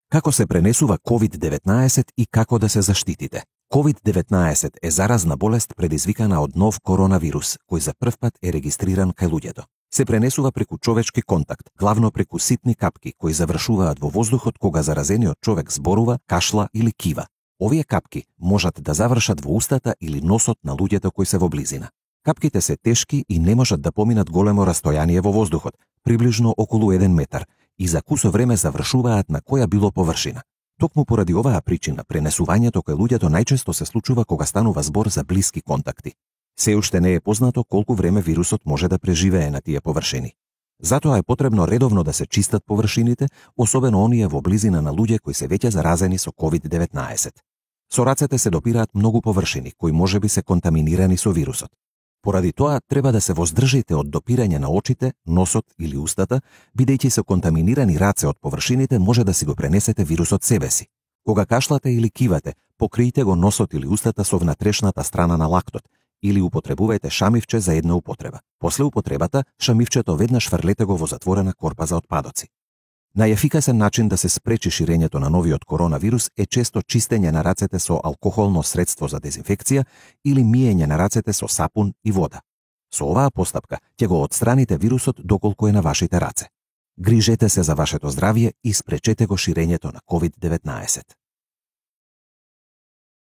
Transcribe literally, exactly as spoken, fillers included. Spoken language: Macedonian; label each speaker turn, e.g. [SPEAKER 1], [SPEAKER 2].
[SPEAKER 1] Како се пренесува ковид деветнаесет и како да се заштитите? ковид деветнаесет е заразна болест предизвикана од нов коронавирус, кој за прв пат е регистриран кај луѓето. Се пренесува преку човечки контакт, главно преку ситни капки кои завршуваат во воздухот кога заразениот човек зборува, кашла или кива. Овие капки можат да завршат во устата или носот на луѓето кои се во близина. Капките се тешки и не можат да поминат големо растојание во воздухот, приближно околу еден метар, и за кусо време завршуваат на која било површина. Токму поради оваа причина, пренесувањето кај луѓето најчесто се случува кога станува збор за блиски контакти. Се уште не е познато колку време вирусот може да преживее на тие површини. Затоа е потребно редовно да се чистат површините, особено оние во близина на луѓе кои се веќе заразени со ковид деветнаесет. Со рацете се допираат многу површини кои можеби се контаминирани со вирусот. Поради тоа треба да се воздржите од допирање на очите, носот или устата, бидејќи со контаминирани раце од површините може да си го пренесете вирусот себе си. Кога кашлате или кивате, покријте го носот или устата со внатрешната страна на лактот или употребувајте шамивче за една употреба. После употребата, шамивчето веднаш фрлете го во затворена корпа за отпадоци. Најефикасен начин да се спречи ширењето на новиот коронавирус е често чистење на рацете со алкохолно средство за дезинфекција или миење на рацете со сапун и вода. Со оваа постапка ќе го отстраните вирусот доколку е на вашите раце. Грижете се за вашето здравје и спречете го ширењето на ковид деветнаесет.